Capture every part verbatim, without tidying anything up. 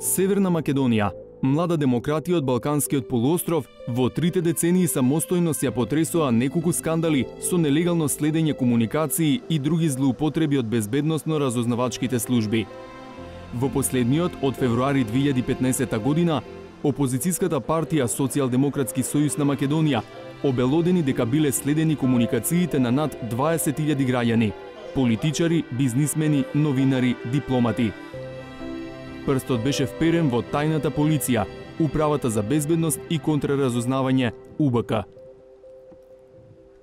Северна Македонија, млада демократија од Балканскиот полуостров, во трите децении самостојно се ја потресоа неколку скандали со нелегално следење комуникации и други злоупотреби од безбедносно-разузнавачките служби. Во последниот, од февруари две илјади и петнаесетта година, опозицијската партија Социјалдемократски сојуз на Македонија обелодени дека биле следени комуникациите на над дваесет илјади граѓани, политичари, бизнисмени, новинари, дипломати. Прстот беше вперен во тајната полиција, Управата за безбедност и контраразузнавање У Б К.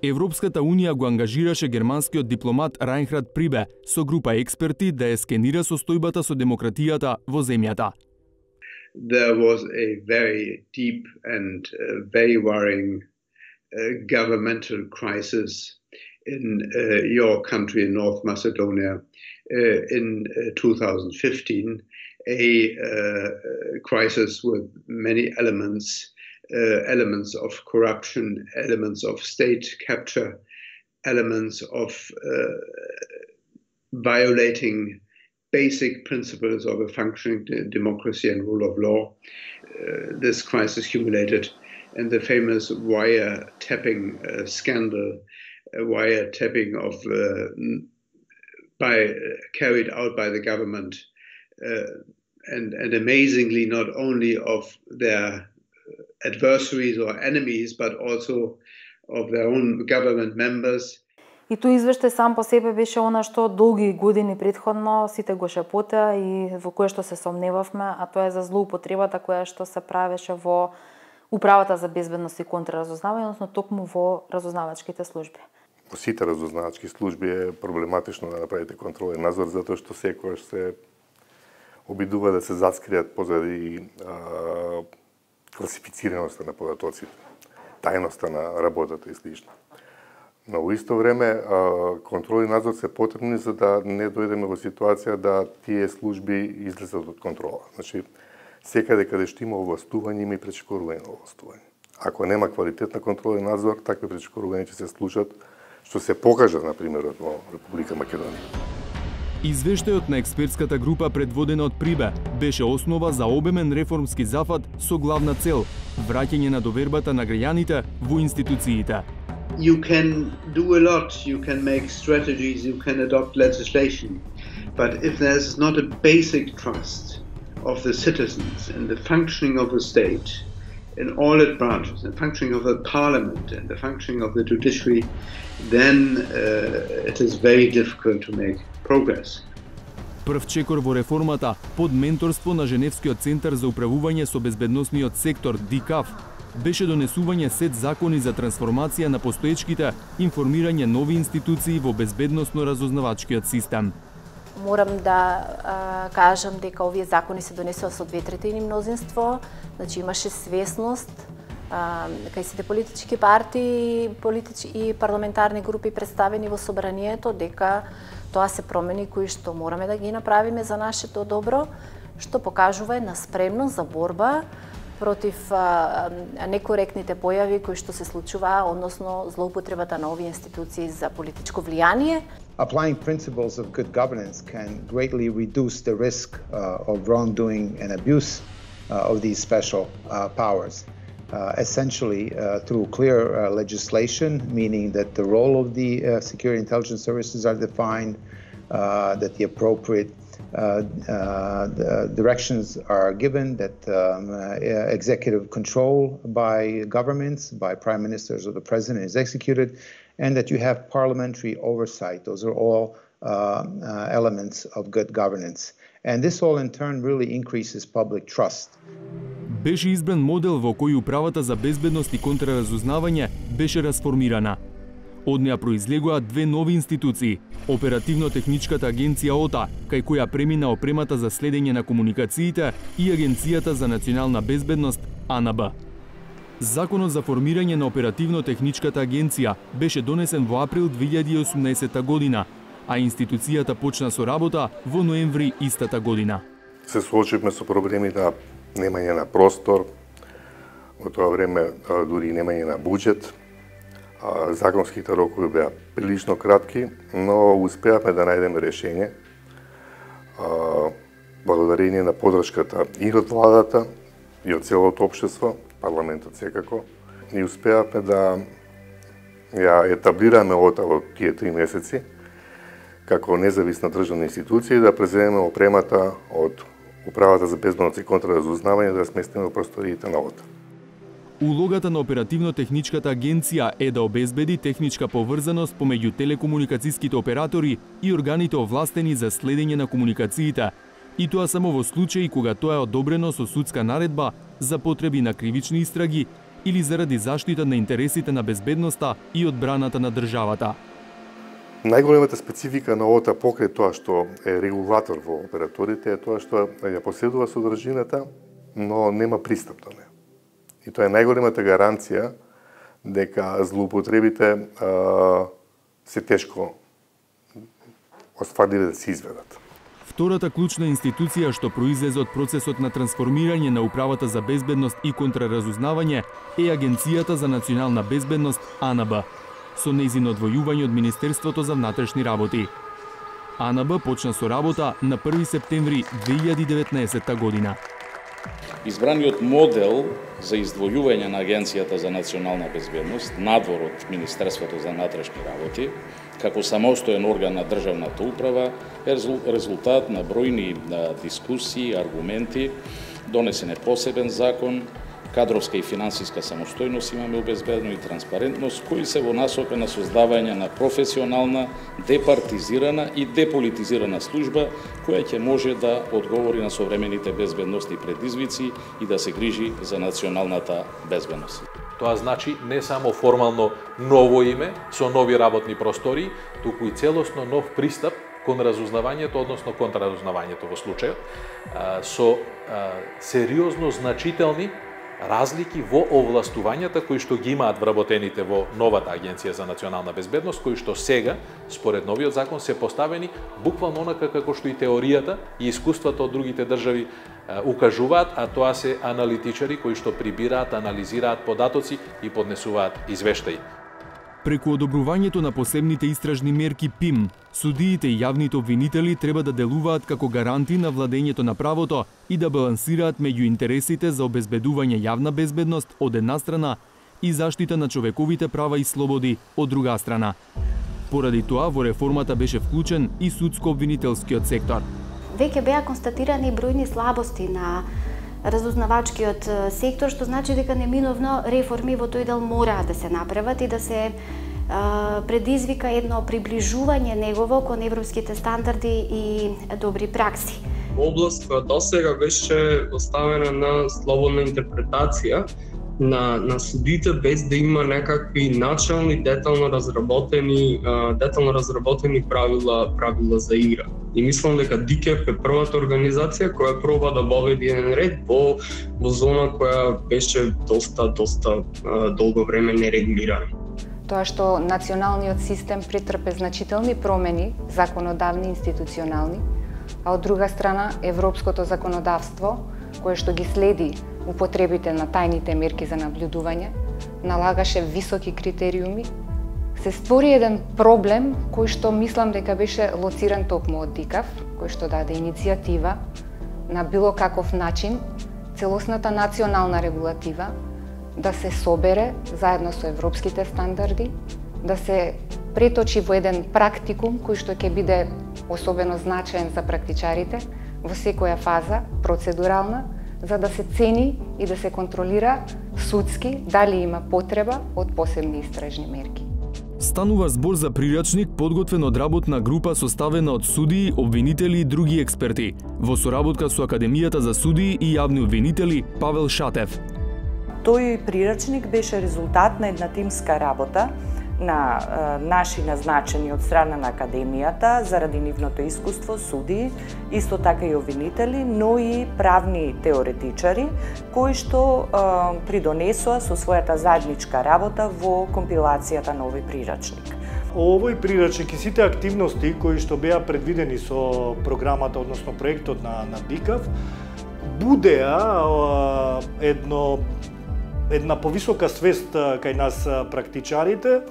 Европската унија го ангажираше германскиот дипломат Райнхард Прибе со група експерти да ја скенира состојбата со демократијата во земјата. There was a very deep and uh, very worrying uh, governmental crisis in uh, your country, in North Macedonia, uh, in uh, two thousand fifteen. A uh, crisis with many elements, uh, elements of corruption, elements of state capture, elements of uh, violating basic principles of a functioning democracy and rule of law. Uh, this crisis culminated in the famous wiretapping uh, scandal, uh, wiretapping of uh, by uh, carried out by the government. Uh, And, and amazingly, not only of their adversaries or enemies, but also of their own government members. И тој извештај сам по себе беше она што долги години претходно сите го шепота и во кое што се сомневавме, а тоа е за злоупотребата која што се правеше во Управата за безбедност и контраразузнавање, односно токму во разузнавачките служби. Во сите разузнавачки служби е проблематично да направите контролен надзор, затоа што секојаш се обидува да се заскријат позади а, класифицираноста на податоците, тајноста на работата и слично. Но во исто време а, контрол и надзор се потребни за да не дојдеме во ситуација да тие служби излезат од контрола. Значи, секаде каде што има овластување, има и пречекорување на овластување. Ако нема квалитетна контрола и надзор, такви пречекорувања ќе се случат, што се покажа, на пример, во Република Македонија. Извештајот на експертската група предводена од Прибе беше основа за обемен реформски зафат со главна цел враќање на довербата на граѓаните во институциите. You can do a lot, you can make strategies, you can adopt legislation, but if there's not a basic trust of the citizens in the functioning of the state, in all its branches, the functioning of the parliament and the functioning of the judiciary, then uh, it is very difficult to make progress. Прв чекор во реформата под менторство на Женевскиот центар за управување со безбедносниот сектор Ди К А Ф беше донесување сет закони за трансформација на постоечките, информирање нови институции во безбедносно-разузнавачкиот систем. Морам да а, кажам дека овие закони се донесува со две третини мнозинство, значи имаше свесност а, кај сите политички партии политич... и парламентарни групи представени во собранието дека тоа се промени кои што мораме да ги направиме за нашето добро, што покажува една спремност за борба против а, некоректните појави кои што се случуваа, односно злоупотребата на овие институции за политичко влијание. Applying principles of good governance can greatly reduce the risk uh, of wrongdoing and abuse uh, of these special uh, powers. Uh, essentially, uh, through clear uh, legislation, meaning that the role of the uh, security intelligence services are defined, uh, that the appropriate uh, uh, the directions are given, that um, uh, executive control by governments, by prime ministers or the president is executed, and that you have parliamentary oversight. Those are all uh, uh, elements of good governance. And this all in turn really increases public trust. Беше избран модел во кој Управата за безбедност и контраразузнавање беше расформирана. Од неа произлегоа две нови институции: Оперативно-техничката агенција О Т А, кај која премина опремата за следење на комуникациите, и Агенцијата за национална безбедност А Н Б. Законот за формирање на Оперативно-техничката агенција беше донесен во април две илјади и осумнаесетта година, а институцијата почна со работа во ноември истата година. Се соочивме со проблеми на немање на простор, во тоа време дури и немање на буџет. Законските рокови беа прилично кратки, но успеавме да најдеме решение. благодарение на подршката и од владата, и од целото општество, парламентот секако, и успеавме да ја етаблираме ОТА во тие три месеци како независна државна институција и да преземеме опремата од Управата за безбедност и контраразузнавање да сместиме во просториите на ОТА. Улогата на оперативно-техничката агенција е да обезбеди техничка поврзаност помеѓу телекомуникацијските оператори и органите овластени за следење на комуникациите, и тоа само во случаи кога тоа е одобрено со судска наредба за потреби на кривични истраги или заради заштита на интересите на безбедноста и одбраната на државата. Најголемата специфика на ОТА покрај тоа што е регулатор во операторите е тоа што ја поседува содржината, но нема пристап до неа. И тоа е најголемата гаранција дека злоупотребите а, се тешко остварливи да се изведат. Втората клучна институција што произлезе од процесот на трансформирање на Управата за безбедност и контраразузнавање е Агенцијата за национална безбедност А Н Б, со нејзино одвојување од Министерството за внатрешни работи. А Н Б почна со работа на први септември две илјади и деветнаесетта година. Избраниот модел за издвојување на Агенцијата за национална безбедност надвор од Министерството за внатрешни работи како самостоен орган на државната управа е резултат на бројни дискусии, аргументи, донесен е посебен закон, кадровска и финансиска самостојност имаме обезбедено и транспарентност, кои се во насока на создавање на професионална, департизирана и деполитизирана служба, која ќе може да одговори на современите безбедностни предизвици и да се грижи за националната безбедност. Тоа значи не само формално ново име со нови работни простори, туку и целосно нов пристап кон разузнавањето, односно контраразузнавањето во случајот, со сериозно значителни разлики во овластувањата кои што ги имаат вработените во новата Агенција за национална безбедност, кои што сега, според новиот закон, се поставени буквално онака како што и теоријата и искуството од другите држави укажуваат, а тоа се аналитичари кои што прибираат, анализираат податоци и поднесуваат извештаи. Преку одобрувањето на посебните истражни мерки П И М, судиите и јавните обвинители треба да делуваат како гаранти на владењето на правото и да балансираат меѓу интересите за обезбедување јавна безбедност од една страна и заштита на човековите права и слободи од друга страна. Поради тоа во реформата беше вклучен и судско-обвинителскиот сектор. Веќе беа констатирани бројни слабости на разузнавачкиот сектор, што значи дека неминовно реформи во тој дел мораат да се направат и да се а, предизвика едно приближување негово кон европските стандарди и добри пракси. Област која досега беше оставена на слободна интерпретација на, на судите без да има некакви начални, детално разработени, детално разработени правила, правила за игра. И мислам дека Д К Е П е првата организација која проба да воведе еден ред во, во зона која беше доста, доста а, долго време нерегулирана. Тоа што националниот систем претрпе значителни промени, законодавни и институционални, а од друга страна европското законодавство, кое што ги следи употребите на тајните мерки за наблюдување, налагаше високи критериуми, се створи еден проблем кој што мислам дека беше лоциран токму од Д И К А Ф, кој што даде иницијатива на било каков начин целосната национална регулатива да се собере заедно со европските стандарди, да се преточи во еден практикум кој што ќе биде особено значаен за практичарите во секоја фаза, процедурална, за да се цени и да се контролира судски дали има потреба од посебни истражни мерки. Станува збор за прирачник подготвен од работна група составена од судии, обвинители и други експерти, во соработка со Академијата за судии и јавни обвинители Павел Шатев. Тој прирачник беше резултат на една тимска работа на е, наши назначени од страна на Академијата заради нивното искуство, судии, исто така и обвинители, но и правни теоретичари, кои што е, придонесоа со својата заедничка работа во компилацијата на овој прирачник. Овој прирачник и сите активности кои што беа предвидени со програмата, односно проектот на, на Д И К А Ф, будеа е, едно, една повисока свест кај нас практичарите,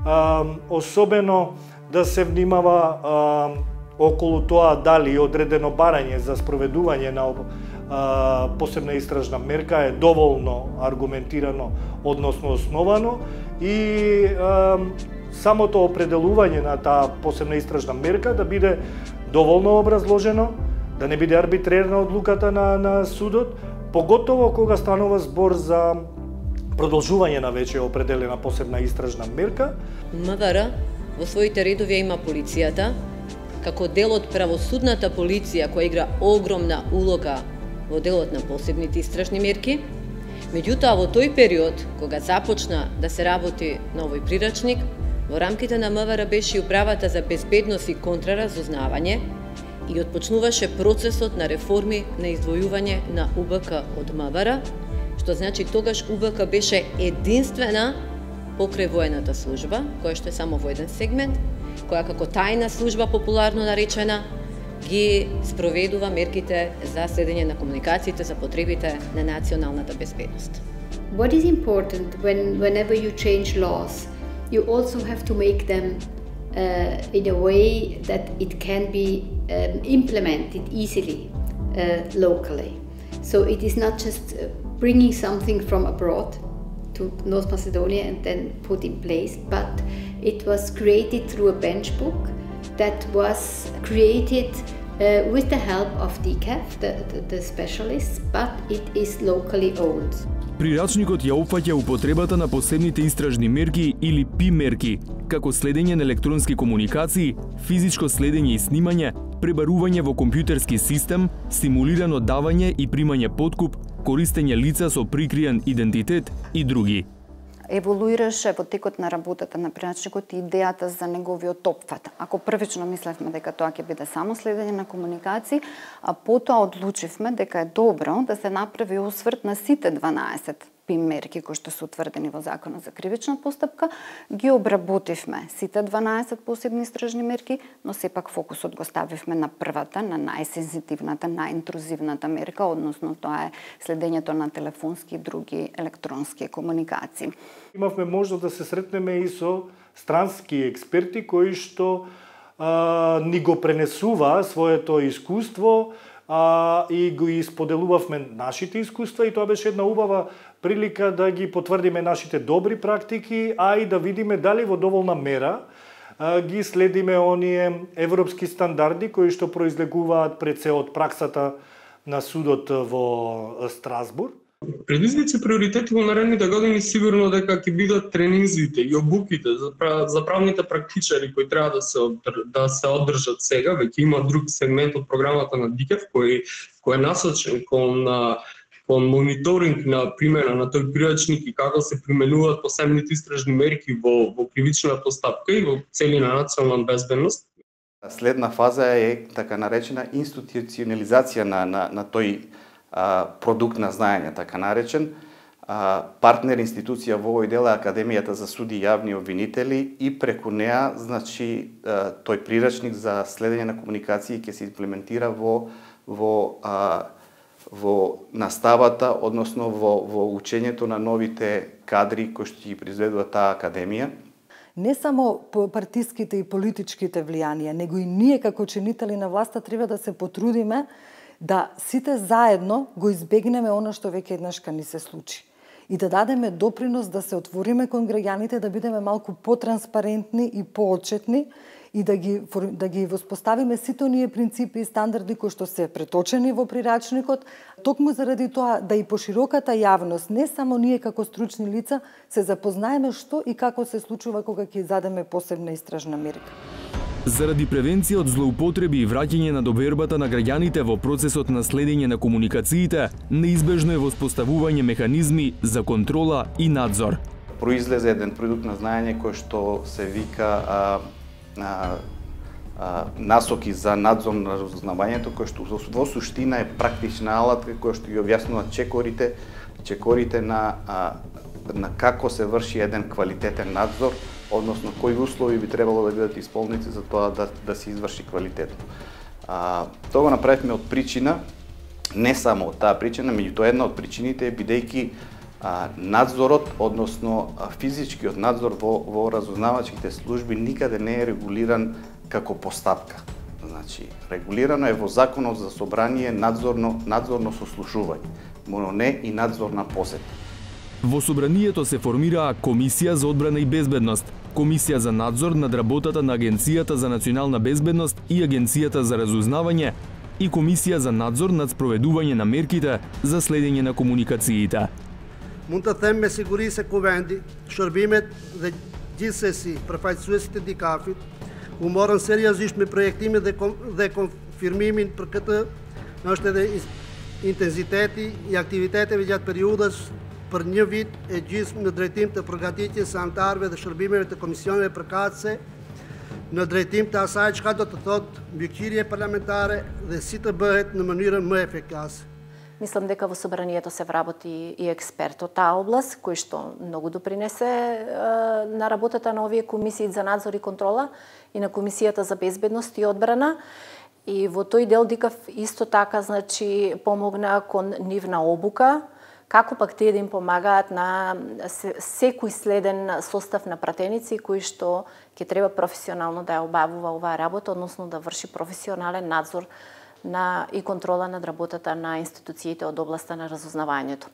Uh, особено да се внимава uh, околу тоа дали одредено барање за спроведување на а, посебна истражна мерка е доволно аргументирано, односно основано и а, самото определување на таа посебна истражна мерка да биде доволно образложено, да не биде арбитрерна одлуката на, на судот, поготово кога станува збор за продолжување на веќе определена посебна истражна мерка. МВР во своите редови има полицијата, како дел од правосудната полиција која игра огромна улога во делот на посебните истражни мерки. Меѓутоа, во тој период, кога започна да се работи на овој прирачник, во рамките на МВР беше и управата за безбедност и контраразузнавање и отпочнуваше процесот на реформи на издвојување на У Б К од МВР, што значи тогаш У Б К беше единствена покрај воената служба, која што е само во еден сегмент, која како тајна служба популарно наречена ги спроведува мерките за следење на комуникациите за потребите на националната безбедност. What is important when whenever you change laws, you also have to make them uh, in a way that it can be um, implemented easily uh, locally. So it is not just bringing something from abroad to North Macedonia and then put in place, but it was created through a bench book that was created uh, with the help of D C A F, the, the, the specialists, but it is locally owned. Прирачникот ја опфаќа употребата на посебните истражни мерки или П И мерки, како следење на електронски комуникации, физичко следење и снимање, пребарување во компјутерски систем, симулирано давање и примање подкуп, користење лица со прикриен идентитет и други. Еволуираше во текот на работата на прирачникот и идејата за неговиот опфат. Ако првично мислевме дека тоа ќе биде само следење на комуникации, а потоа одлучивме дека е добро да се направи осврт на сите дванаесет П И мерки кои што се утврдени во Законот за кривична постапка, ги обработивме сите дванаесет посебни истражни мерки, но сепак фокусот го ставивме на првата, на најсензитивната, најинтрузивната мерка, односно тоа е следењето на телефонски и други електронски комуникации. Имавме можност да се сретнеме и со странски експерти кои што а, ни го пренесува своето искуство а, и го исподелувавме нашите искуства и тоа беше една убава прилика да ги потврдиме нашите добри практики, а и да видиме дали во доволна мера а, ги следиме оние европски стандарди кои што произлегуваат пред се од праксата на судот во Страсбург. Предизвици приоритети во наредните години сигурно дека ќе бидат тренинзите и обуките за, за правните практичари кои треба да се да се одржат сега. Веќе има друг сегмент од програмата на Д К А Ф кој кој е насочен кон кон мониторинг на примена на тој прирачник и како се применуваат посебните истражни мерки во во кривичната постапка и во целина национална безбедност. Следна фаза е така наречена институционализација на на на тој а, продукт на знаење, така наречен. А, партнер институција во овој дел е Академијата за суди и јавни обвинители и преку неа, значи, а, тој прирачник за следење на комуникации ќе се имплементира во во а, во наставата, односно во, во учењето на новите кадри кои што ги произведува таа академија. Не само партиските и политичките влијанија, него и ние како чинители на власта треба да се потрудиме да сите заедно го избегнеме она што веќе еднашка ни се случи. И да дадеме допринос да се отвориме кон граѓаните, да бидеме малку потранспарентни и поотчетни и да ги, да ги воспоставиме сите оние принципи и стандарди кои што се преточени во прирачникот, токму заради тоа да и пошироката јавност, не само ние како стручни лица, се запознаеме што и како се случува кога ќе задеме посебна истражна мерка. Заради превенција од злоупотреби и враќање на довербата на граѓаните во процесот на следење на комуникациите, неизбежно е воспоставување механизми за контрола и надзор. Произлезе еден продукт на знаење кој што се вика а, а, а, насоки за надзор на разузнавањето, кој што во суштина е практична алатка која што ги објаснува чекорите, чекорите на а, на како се врши еден квалитетен надзор, односно кои услови би требало да бидат исполнети за тоа да, да се изврши квалитетно. А, тоа го направивме од причина, не само од таа причина, меѓутоа една од причините е бидејќи а, надзорот, односно а, физичкиот надзор во, во разузнавачките служби никаде не е регулиран како постапка. Значи, регулирано е во Законот за собрание надзорно, надзорно сослушување, но не и надзорна посета. Во собранието се формираа Комисија за одбрана и безбедност, Комисија за надзор над работата на Агенцијата за национална безбедност и Агенцијата за разузнавање и Комисија за надзор над спроведување на мерките за следење на комуникациите. Mund të them me siguri se Kuvendi, shërbimet dhe gjithsesi përfaqësuesit e dikafit u morën seriozisht me projektimin dhe, dhe konfirmimin për këtë është edhe intensiteti i aktiviteteve gjatë periudhës për një vit e gjysmë në drejtim të përgatitjes së anëtarëve dhe shërbimeve të komisioneve përkatëse në drejtim të asaj çka do të thotë mbikëqyrje parlamentare dhe si të bëhet në mënyrën më efikase. Мислам дека во собранието се вработи и експерт од таа област, кој што многу допринесе е, на работата на овие комисии за надзор и контрола и на Комисијата за безбедност и одбрана. И во тој дел Дикав исто така, значи, помогна кон нивна обука, како пак тие да им помагаат на секој следен состав на пратеници кои што ќе треба професионално да ја обавува оваа работа, односно да врши професионален надзор на и контрола над работата на институциите од областа на разузнавањето.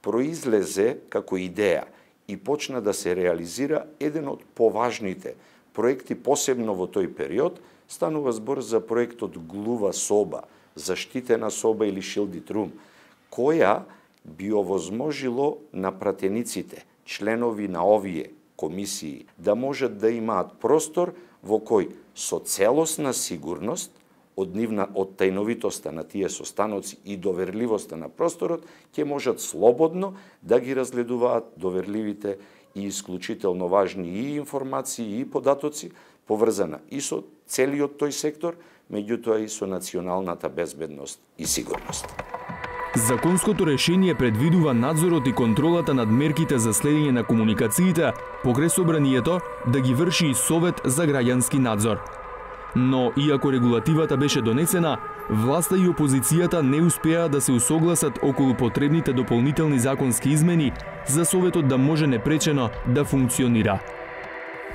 Произлезе како идеја и почна да се реализира еден од поважните проекти, посебно во тој период. Станува збор за проектот Глува соба, заштитена соба или shielded room, која би овозможило на пратениците, членови на овие комисии, да можат да имаат простор во кој со целосна сигурност од нивна од тајновитоста на тие состаноци и доверливоста на просторот, ќе можат слободно да ги разгледуваат доверливите и исклучително важни и информации и податоци, поврзана и со целиот тој сектор, меѓутоа и со националната безбедност и сигурност. Законското решение предвидува надзорот и контролата над мерките за следење на комуникациите покрај собранието да ги врши и Совет за граѓански надзор. Но, иако регулативата беше донесена, власта и опозицијата не успеа да се усогласат околу потребните дополнителни законски измени за Советот да може непречено да функционира.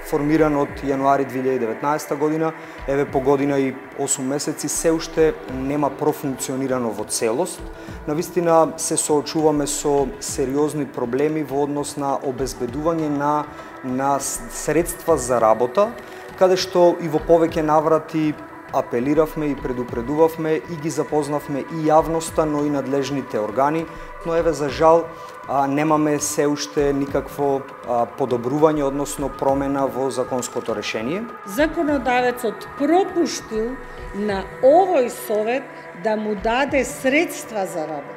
Формиран од јануари две илјади и деветнаесета година, еве по година и осум месеци, се уште нема профункционирано во целост. Навистина се соочуваме со сериозни проблеми во однос на обезбедување на, на средства за работа, каде што и во повеќе наврати апелиравме и предупредувавме и ги запознавме и јавноста, но и надлежните органи, но еве за жал а, немаме се уште никакво а, подобрување, односно промена во законското решение. Законодавецот пропуштил на овој совет да му даде средства за работа.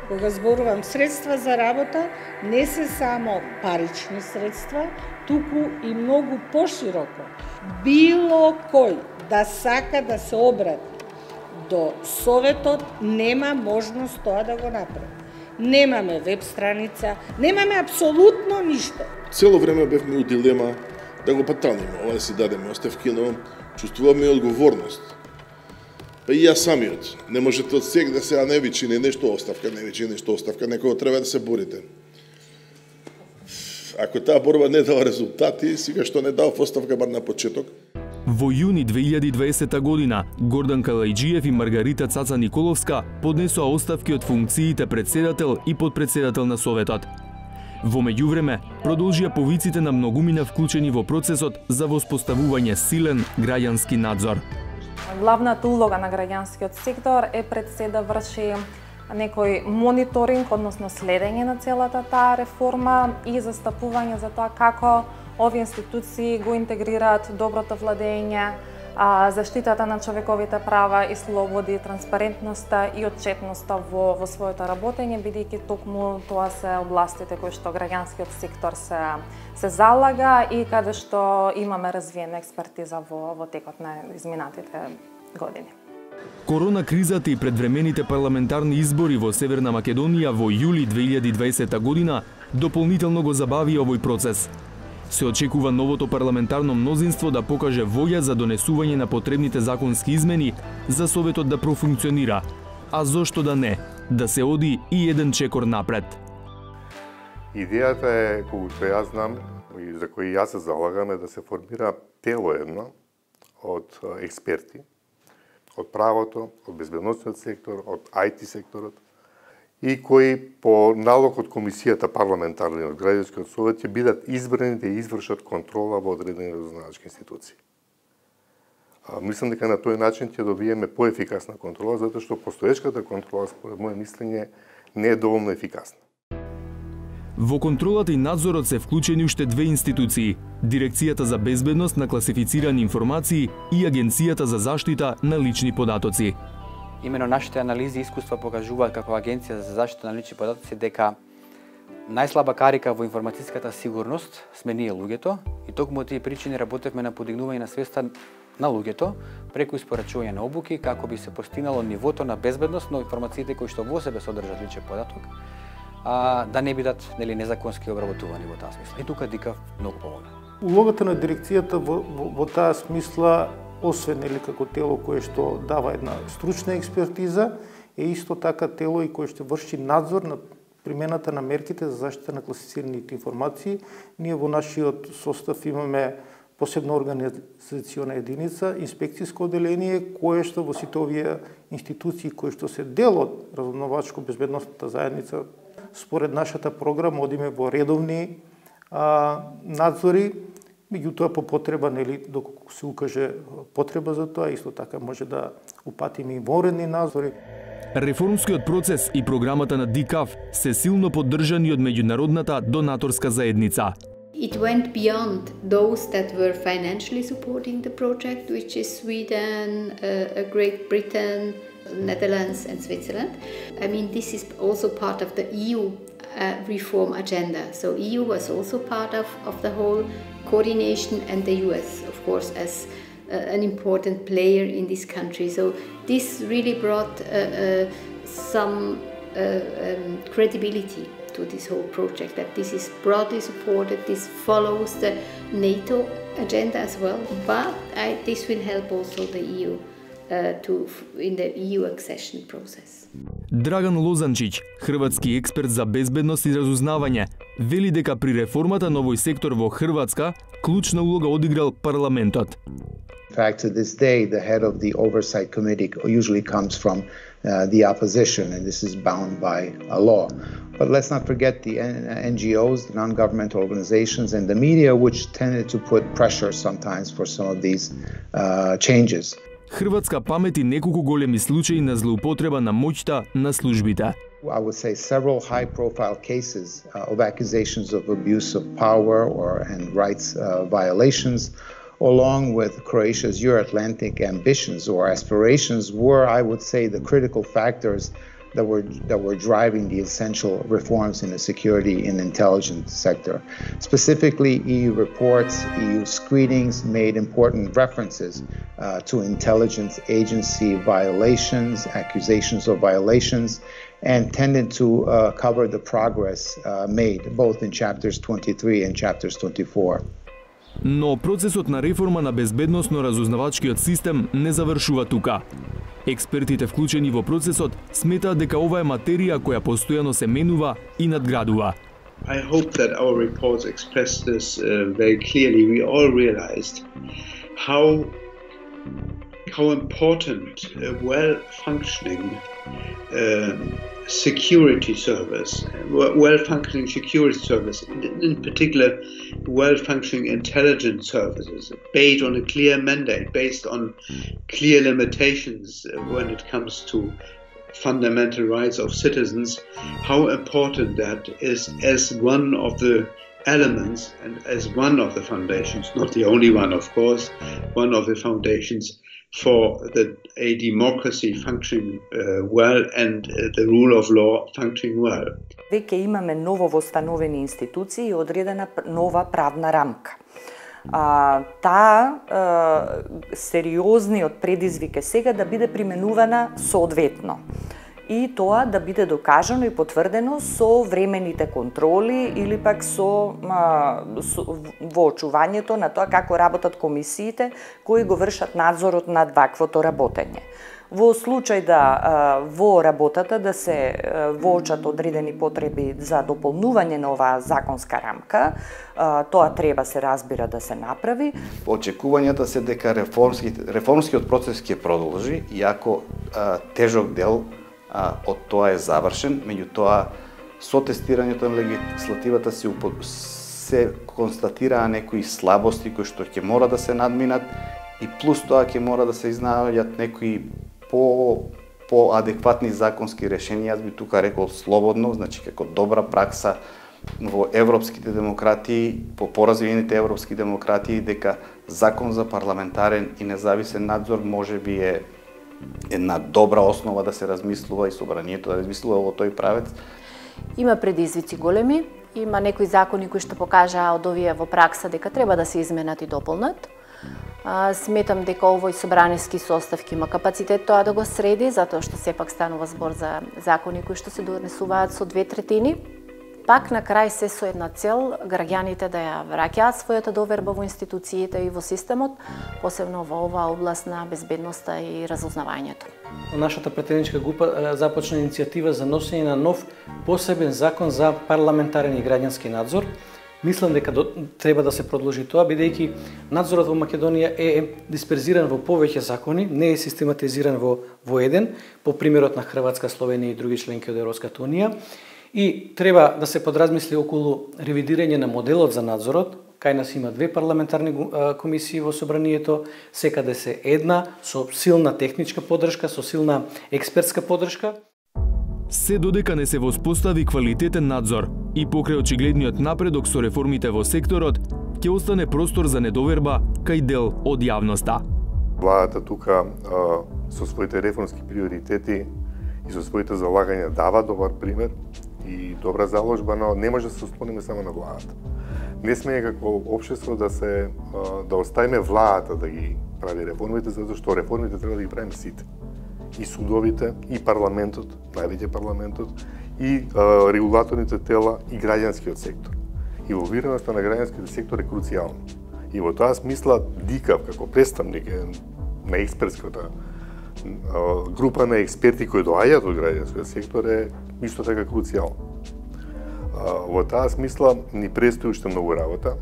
Кога зборувам средства за работа, не се само парични средства, туку и многу пошироко. Било кој да сака да се обрати до Советот, нема можност тоа да го направи. Немаме веб страница, немаме апсолутно ништо. Цело време бевме у дилема да го паталниме, ова да си дадеме оставки, но чувствуваме одговорност. Па и јас самиот. Не можете од сега да се не вичи не нешто оставка, не вичи нешто оставка, некој треба да се борите. Ако таа борба не дава резултати, сега што не дава оставка бар на почеток. Во јуни две илјади и дваесета година, Гордан Калајџиев и Маргарита Цаца Николовска поднесоа оставки од функциите председател и подпредседател на Советот. Во меѓувреме, продолжија повиците на многумина вклучени во процесот за воспоставување силен граѓански надзор. Главната улога на граѓанскиот сектор е пред се да врши некој мониторинг, односно следење на целата таа реформа и застапување за тоа како овие институции го интегрираат доброто владење, заштитата на човековите права и слободи, транспарентноста и отчетноста во, во своето работење, бидејќи токму тоа се областите кои што граѓанскиот сектор се, се залага и каде што имаме развиена експертиза во, во текот на изминатите години. Корона кризата и предвремените парламентарни избори во Северна Македонија во јули две илјади и дваесета година дополнително го забави овој процес. Се очекува новото парламентарно мнозинство да покаже волја за донесување на потребните законски измени за Советот да профункционира, а зошто да не, да се оди и еден чекор напред. Идејата е, колку што јас знам, и за кој јас се залагам, е да се формира тело едно од експерти, од правото, од безбедносниот сектор, од ај ти секторот, и кои по налог од комисијата парламентарна и од граѓанскиот совет ќе бидат избрани да извршат контрола во одредени разузнавачки институции. А, мислам дека на тој начин ќе добиеме поефикасна контрола, затоа што постоечката контрола, според моје мислење, не е доволно ефикасна. Во контролата и надзорот се вклучени уште две институции: Дирекцијата за безбедност на класифицирани информации и Агенцијата за заштита на лични податоци. Имено нашите анализи и искуства покажуваат како Агенција за заштита на лични податоци дека најслаба карика во информатиската сигурност сме ние луѓето, и токму од тие причини работевме на подигнување на свеста на луѓето преку испорачување на обуки како би се постигнало нивото на безбедност на информациите кои што во себе содржат личен податок, а да не бидат нели незаконски обработувани во таа смисла. И тука ДИКАФ многу помогна. Улогата на дирекцијата во, во, во таа смисла, освен нели како тело кое што дава една стручна експертиза, е исто така тело и кое што врши надзор на примената на мерките за заштита на класифицираните информации. Ние во нашиот состав имаме посебна организациона единица, инспекциско одделение, кое што во сите овие институции кои што се дел од разузнавачко-безбедносната заедница, според нашата програма одиме во редовни а, надзори, меѓутоа по потреба, нели, доколку се укаже потреба за тоа, исто така може да упатиме и воредни надзори. Реформскиот процес и програмата на ДИКАФ се силно поддржани од меѓународната донаторска заедница. It went beyond those that were financially supporting the project, which is Sweden, uh, Great Britain, Netherlands and Switzerland. I mean, this is also part of the E U uh, reform agenda. So E U was also part of, of the whole coordination, and the U S, of course, as uh, an important player in this country. So this really brought uh, uh, some uh, um, credibility to this whole project, that this is broadly supported, this follows the NATO agenda as well, but I, this will help also the E U uh, to, in the E U accession process. Драган Лозанчиќ, хрватски експерт за безбедност и разузнавање, вели дека при реформата на овој сектор во Хрватска клучна улога одиграл парламентот. In fact, to this day, the head of the oversight committee usually comes from uh, the opposition, and this is bound by a law. But let's not forget the N G Os, the non-governmental organizations, and the media, which tended to put pressure sometimes for some of these uh, changes. Хрватска памети неколку големи случаи на злоупотреба на моќта на службите. I would say several high-profile cases uh, of accusations of abuse of power or and rights uh, violations, along with Croatia's Euro-Atlantic ambitions or aspirations, were, I would say, the critical factors that were that were driving the essential reforms in the security and intelligence sector. Specifically, E U reports, E U screenings made important references uh, to intelligence agency violations, accusations of violations, and tended to uh, cover the progress uh, made both in chapters twenty-three and chapters twenty-four. Но процесот на реформа на безбедносно-разузнавачкиот систем не завршува тука. Експертите вклучени во процесот сметаат дека ова е материја која постојано се менува и надградува. I hope that our reports express this uh, very clearly. We all realized how how important a well-functioning uh, security service, well-functioning security service, in, in particular, well-functioning intelligence services, based on a clear mandate, based on clear limitations when it comes to fundamental rights of citizens, how important that is as one of the elements and as one of the foundations, not the only one, of course, one of the foundations for the, a democracy functioning uh, well and uh, the rule of law functioning well. Веќе имаме ново востановени институции и одредена нова правна рамка. А, таа а, сериозниот предизвик е сега да биде применувана соодветно. И тоа да биде докажано и потврдено со времените контроли или пак со, а, со во очувањето на тоа како работат комисиите кои го вршат надзорот над ваквото работење. во случај да во работата да се воочат одредени потреби за дополнување на оваа законска рамка, тоа треба се разбира да се направи. Очекувањата се дека реформски, реформскиот процес ќе продолжи, иако а, тежок дел а, од тоа е завршен, меѓутоа со тестирањето на легислативата се, се констатираа некои слабости кои што ќе мора да се надминат и плюс тоа ќе мора да се изнаоѓат некои по по-адекватни законски решенија. Јас би тука рекол слободно, значи како добра пракса во европските демократии, по поразвиените европски демократии, дека закон за парламентарен и независен надзор може би е една добра основа да се размислува и собранието да размислува во тој правец. Има предизвици големи, има некои закони кои што покажаа од овие во пракса дека треба да се изменат и дополнат. А, сметам дека овој собраниски состав ќе има капацитет тоа да го среди, затоа што сепак станува збор за закони кои што се донесуваат со две третини. Пак на крај се со една цел, граѓаните да ја враќаат својата доверба во институциите и во системот, посебно во оваа област на безбедноста и разузнавањето. Нашата претедничка група започна иницијатива за носење на нов посебен закон за парламентарен и граѓански надзор. Мислам дека до, треба да се продолжи тоа, бидејќи надзорот во Македонија е дисперзиран во повеќе закони, не е систематизиран во, во еден, по примерот на Хрватска, Словенија и други членки од Европската унија. И треба да се подразмисли околу ревидирање на моделот за надзорот. Кај нас има две парламентарни комисии во собранието, секаде се една со силна техничка поддршка, со силна експертска поддршка. Се додека не се воспостави квалитетен надзор и покрај очигледниот напредок со реформите во секторот, ќе остане простор за недоверба кај дел од јавноста. Владата тука со своите реформски приоритети и со своите залагања дава добар пример и добра заложба, но не може да се ослониме само на владата. Не сме како општество да се да оставиме владата да ги прави реформите, затоа што реформите треба да ги правиме сите. И судовите, и парламентот, највеќе парламентот, и а, регулаторните тела, и граѓанскиот сектор. И инволвираноста на граѓанскиот сектор е круцијална. И во тоа смисла ДИКАВ како представник на експертската група на експерти кои доаѓаат од граѓанскиот сектор е исто така круцијално. Во таа смисла ни престои уште многу работа.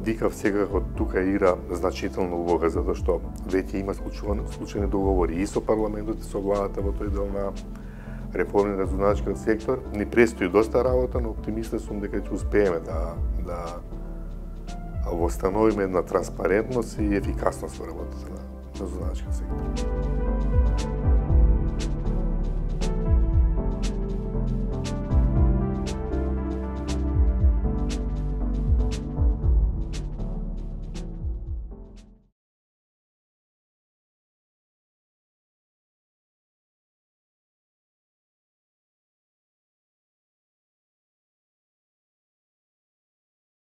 ДИКАВ секако тука игра значителна улога, затоа што веќе има случајни договори и со парламентот и со владата во тој дел на реформи на разузнавачкиот сектор. Ни престои доста работа, но оптимист сум дека ќе успееме да да восстановиме една транспарентност и ефикасност во работата на разузнавачкиот сектор.